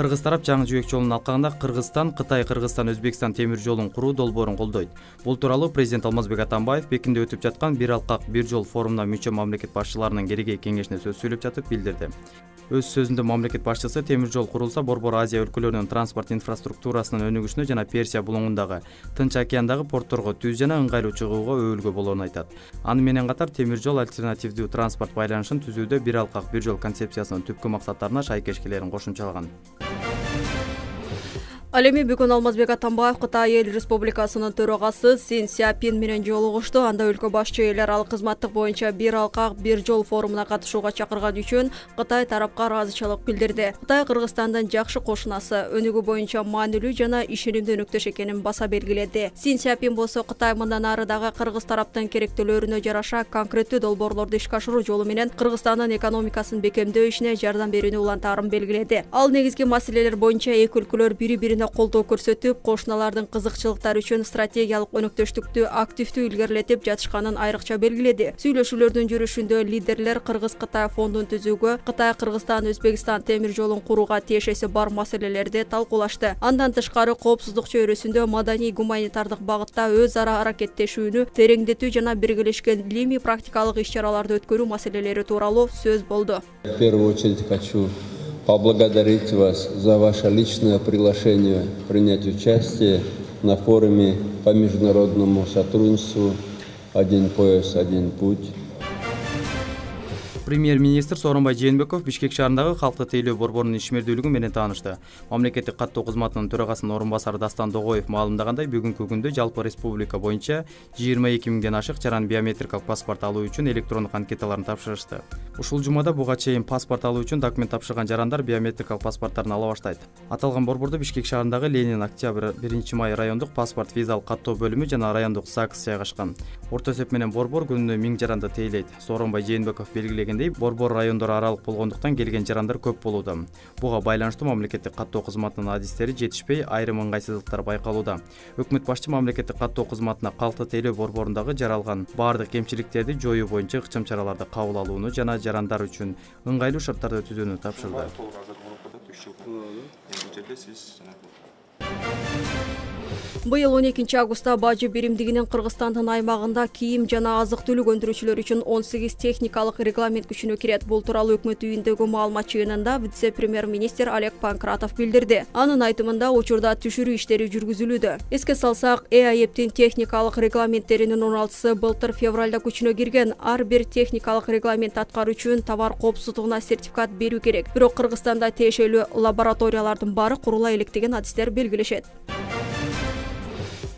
Кыргыз тарап жаңы жибек жолун алкагында Кыргызстан, Кытай, Кыргызстан, Өзбекстан темир жолун куруу долбоорун колдойт. Бул тууралуу президент Алмазбек Атамбаев Пекинде өтүп жаткан бир алкак бир жол форумуна мүчө мамлекет башчыларынын киргей кеңешине сөз сүйлөп жатып билдирди. Өз сөзүндө мамлекет башчысы темир жол курулса Борбор Азия өлкөлөрүнүн транспорт инфраструктурасынын өнүгүшүнө жана Персия булуңундагы Тынч океандагы портторго түз жана ыңгайлуу чыгууга өбөлгө болоорун айтат. Аны менен катар темир жол альтернативдүү транспорт байланышын түзүүдө бир алкак бир жол концепциясынын түпкү максаттарына шайкеш келерин кошумчалаган. Ал эми бүгүн Алмазбек Атамбаев Кытай Эл Республикасынын төрагасы Си Цзиньпин менен жолугушту. Анда өлкө башчы эл аралык кызматтык боюнча бир алкак бир жол форумуна катышууга чакырган үчүн Кытай тарапка ыраазычылык билдирди. Кытай Кыргызстандын жакшы кошунасы, өнүгүү боюнча маанилүү жана ишенимдүү өнөктөш экенин баса белгиледи. Си Цзиньпин болсо Кытай мындан ары дагы Кыргыз тараптын керектүүлөрүнө жараша конкреттүү долбоорлорду ишке ашыруу жолу менен Кыргызстандын экономикасын бекемдөө ишине жардам берүүнү улантаарын белгиледи. Ал негизги маселелер боюнча эки өлкөлөр бири-бирине колдоо көрсөтүп, кошуналардын кызыкчылыктары үчүн стратегиялык өнөктөштүктү активдүү илгерилетип жатышканын айрыкча белгиледи. Сүйлөшүүлөрдүн жүрүшүндө лидерлер Кыргыз-Кытай фондун түзүүгө, Кытай-Кыргызстан-Өзбекстан темир жолун курууга тиешеси бар маселелерди талкуулашты. Андан тышкары коопсуздук чөйрөсүндө маданий-гуманитардык багытта өз ара аракеттешүүнү тереңдетүү жана биргелешкен илимий практикалык иш-чараларды өткөрүү маселелери тууралуу сөз болду. В первую очередь хочу поблагодарить вас за ваше личное приглашение принять участие на форуме по международному сотрудничеству «Один пояс, один путь». Премьер-министр Сооронбай Жээнбеков Бишкек шаарындагы калкты тейлөө борборунун ишмердүүлүгү менен таанышты. Мамлекеттик каттоо кызматынын төрагасынын орун басары Дастан Догоев маалымдагандай, бүгүнкү күндө жалпы республика боюнча 22 миңден ашык жаран биометрикалык паспорт алуу үчүн электрондук анкеталарын тапшырышты. Ушул жумада буга чейин паспорт алуу үчүн документ тапшырган жарандар биометрикалык паспорттарын ала баштайт. Аталган борборду Бишкек шаарындагы Ленин, Октябрь, 1-май райондук паспорт визалык каттоо бөлүмү жана райондук ЗАГС жайгашкан. Орто эсеп менен борбор күнүнө 1000 жаранды тейлейт. Сооронбай Жээнбеков белгилегендей, борбор райондор аралык болгондуктан келген жарандар көп болууда. Буга байланыштуу мамлекеттик каттоо кызматынын адистери жетишпей, айрым ыңгайсыздыктар байкалууда. Өкмөт башчы мамлекеттик каттоо кызматына калкты тейлөө борборундагы жаралган баардык кемчиликтерди жоюу боюнча ыкчам чараларды кабыл алууну жана жарандар үчүн ыңгайлуу шарттарды түзүүнү тапшырды. Быйыл 12 августта бажы биримдигинин Кыргызстандын аймагында кийим жана азык-түлүк өндүрүүчүлөр үчүн 18 техникалык регламент күчүнө кирет. Бул тууралуу өкмөт үйүндөгү маалымат жыйынында вице-премьер-министр Олег Панкратов билдирди. Анын айтымында учурда түшүрүү иштери жүргүзүлүүдө. Эске салсак, ЭАЭПтин техникалык регламенттеринин 16сы былтыр февралда күчүнө кирген. Ар бир техникалык регламент аткаруу үчүн товар коопсуздугуна сертификат берүү керек. Бирок Кыргызстанда тиешелүү лабораториялардын баары курула электеген адистер белгилешет.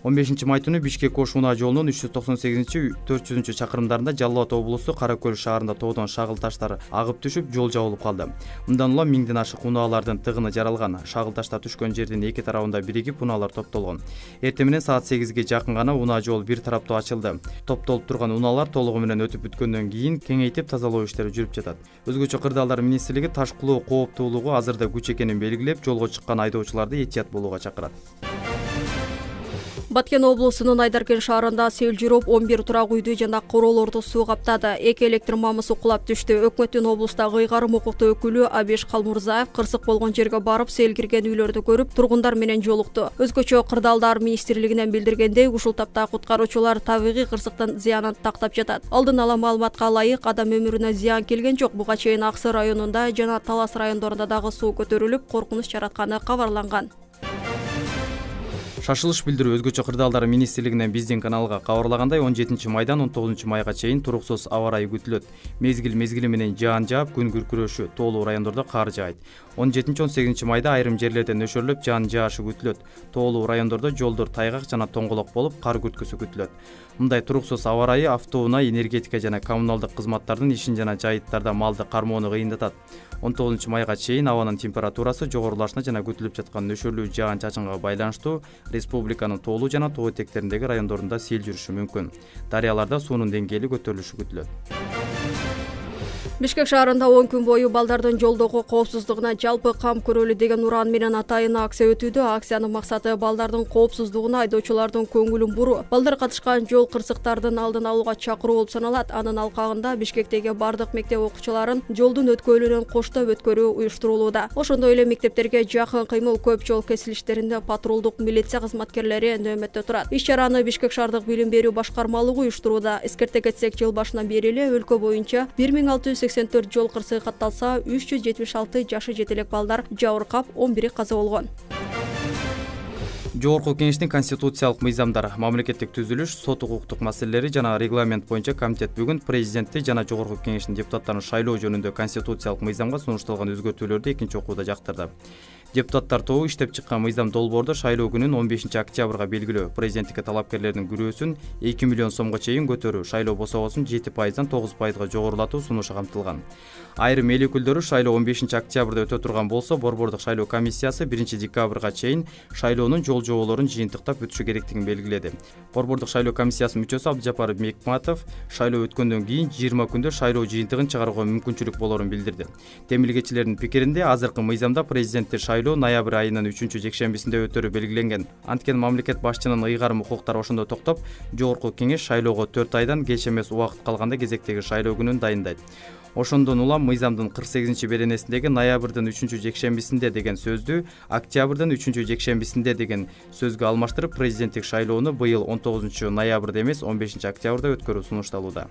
15 май түнү Бишкек-Ош унаа жолунун 398-400 чакырымдарында Жалал Абад облусу Кара Көл шаарында тоодон шагыл таштар агып түшүп, жол жабылып калды. Мындан улам 1000ден ашык унаалардын тыгыны жаралган. Шагыл таштар түшкөн жердин эки тарабында биригип унаалар топтолгон. Эртең менен саат 8ге жакын гана унаа жол бир тараптуу ачылды. Топтолуп турган унаалар толугу менен өтүп бүткөндөн кийин кеңейтип тазалоо иштери жүрүп жатат. Өзгөчө Кырдаалдар министрлиги таш кулоо кооптуулугу азырда күч экенин белгилеп, жолго чыккан айдоочуларды этият болууга чакырат. Баткен облусунун Айдаркен шаарында сел жүрүп, 11 турак үйдү жана короолорду суу каптады. 2 электр мамысы кулап түштү. Өкмөттүн облустагы ыйгарым укуктуу өкүлү Абиш Калмурзаев кырсык болгон жерге барып, сел кирген үйлөрдү көрүп, тургундар менен жолукту. Өзгөчө Кырдаалдар министрлигинен билдиргендей, ушул тапта куткаруучулар табигый кырсыктын зыянын тактап жатат. Алдын ала маалыматка ылайык, адам өмүрүнө зыян келген жок. Буга чейин Аксы районунда жана Талас райондорунда дагы суу көтөрүлүп, коркунуч жаратканы кабарланган. Шашылыш билдирүү өзгөчө Кырдаалдар министрлигинен биздин каналга кабарлагандай, 17 майдан 19 майга чейин туруксуз аба ырайы күтүлөт. Мезгили менен жаан жаап, күн күркүрөшү, тоолуу райондордо кар жаайт. 17-18 майда айрым жерлерде нөшөрлөп жаан жаашы күтүлөт. Тоолуу райондордо жолдор тайгак жана тоңголок болуп, кар күрткүсү күтүлөт. Мындай туруксуз аба ырайы автоунаа, энергетика жана коммуналдык кызматтардын ишин жана жайыттарда малды кармоону кыйындатат. 19 майга чейин абанын температурасы жогорулашына жана күтүлүп жаткан нөшөрлүү жаан-чачынга байланыштуу республиканын тоолуу жана тоо этектериндеги райондорунда сел жүрүшү мүмкүн. Дарыяларда суунун деңгээли көтөрүлүшү күтүлөт. Бишкек шаарында 10 күн бою балдардын жолдогу коопсуздугуна жалпы кам көрөлү деген уран менен атайын акция өтүүдө. Акциянын максаты балдардын коопсуздугуна, айдоочулардын көңүлүн буруу, балдар катышкан жол кырсыктардын алдын алууга чакыруу болуп саналат. Анын алкагында Бишкектеги бардык мектеп окуучуларын жолдун өткөлүнөн коштоп өткөрүү уюштурулууда. Ошондой эле мектептерге жакын кыймыл көп жол кесилиштеринде патрулдук милиция кызматкерлери нөөмөттө турат. Иш-чараны Бишкек шаардык билим берүү башкармалыгы уюштурууда. Эскерте кетсек, жыл башынан бери эле өлкө боюнча 1684 жол кырсыгы катталса, 376 жашы жете элек балдар жабыркап, 11 каза болгон. Жогорку Кеңештин конституциялык мыйзамдар, мамлекеттик түзүлүш, сот укуктук маселелери жана регламент боюнча комитет бүгүн президентти жана Жогорку Кеңештин депутаттарын шайлоо жөнүндө конституциялык мыйзамга сунушталган өзгөртүүлөрдү экинчи окууда жактырды. Депутаттар тобу иштеп чыккан мыйзам долбоорду шайлоо күнүн 15 октябрга белгилөө, президенттикке талапкерлердин күрөөсүн 2 миллион сомго чейин көтөрүү, шайлоо босогосун 7%дан 9%га жогорулатуу сунушу камтылган. Айрым эл өкүлдөрү шайлоо 15 октябрда өтө турган болсо, Борбордук шайлоо комиссиясы 1 декабрга чейин шайлоонун жол жоболорун жыйынтыктап өтүшү керектигин белгиледи. Борбордук шайлоо комиссиясынын мүчөсү Абдыжапар Мекматов шайлоо өткөндөн кийин 20 күндө шайлоо жыйынтыгын чыгарууга мүмкүнчүлүк болорун билдирди. Темилгечилердин пикиринде, азыркы мыйзамда президенттер шайлоо ноябрь айынын 3-жекшембисинде өтөрү белгиленген. Анткени мамлекет башчынын ыйгарым укуктары ошондо токтоп, Жогорку Кеңеш шайлоого 4 айдан кеч эмес убакыт калганда кезектеги шайлоо күнүн дайындайт. Ошондон улам мыйзамдын 48-беренесиндеги ноябрдын 3-жекшембисинде деген сөздү октябрдын 3-жекшембисинде деген сөзгө алмаштырып, президенттик шайлоону быйыл 19 ноябрда эмес 15 октябрда өткөрүү сунушталууда.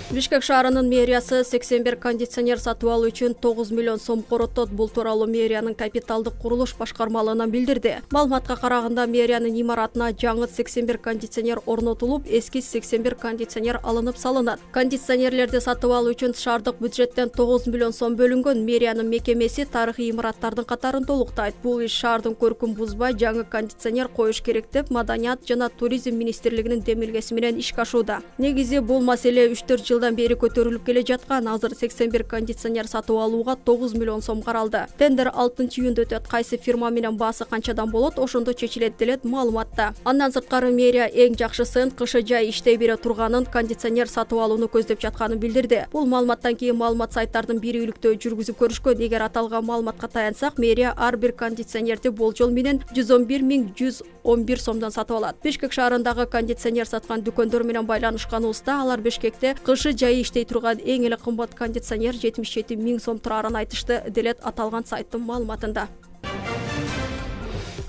Бишкек шаарынын мэриясы 81 кондиционер сатып алуу үчүн 9 миллион сом короттот. Бул тууралуу мэриянын капиталдык курулуш башкармалыгынан билдирди. Маалыматка караганда, мэриянын имаратына жаңы 81 кондиционер орнотулуп, эски 81 кондиционер алынып салынат. Кондиционерлерди сатып алуу үчүн шаардык бюджеттен 9 миллион сом бөлүнгөн. Мэриянын мекемеси тарыхый имараттардын катарын толуктайт. Бул иш шаардын көркүн бузбай жаңы кондиционер коюш керек деп Маданият жана туризм министрлигинин демилгеси менен ишке ашууда. Негизи бул маселе 3-4 жылдан бери көтөрүлүп келе жаткан. Азыр 81 кондиционер сатып алууга 9 миллион сом каралды. Тендер 6-июнда өтөт. Кайсы фирма менен баасы канчадан болот, ошондо чечилет делет маалыматта. Андан сырткары мэрия эң жакшысын кышы жай иштей бере турганын, кондиционер сатып алууну көздөп жатканын билдирди. Бул маалыматтан кийин маалымат сайттардын бири үйлүктө жүргүзүп көрүшкөн. Эгер аталган маалыматка таянсак, мэрия ар бир кондиционерди болжол менен 111.111 сомдон сатып алат. Бишкек шаарындагы кондиционер саткан дүкөндөр менен байланышканыбызда, алар Бишкекте кышы жай иштей турган эң эле кымбат кондиционер 77 000 сом турарын айтышты, делет аталган сайттын маалыматында.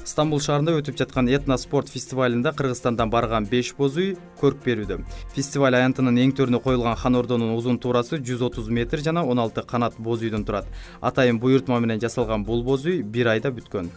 Стамбул шаарында өтүп жаткан этно спорт фестивалында Кыргызстандан барган 5 боз үй көрк берүүдө. Фестиваль аянтынын эң төрүнө коюлган хан ордонун узун туурасы 130 метр жана 16 канат боз үйдөн турат. Атайын буйртма менен жасалган бул боз үй 1 айда бүткөн.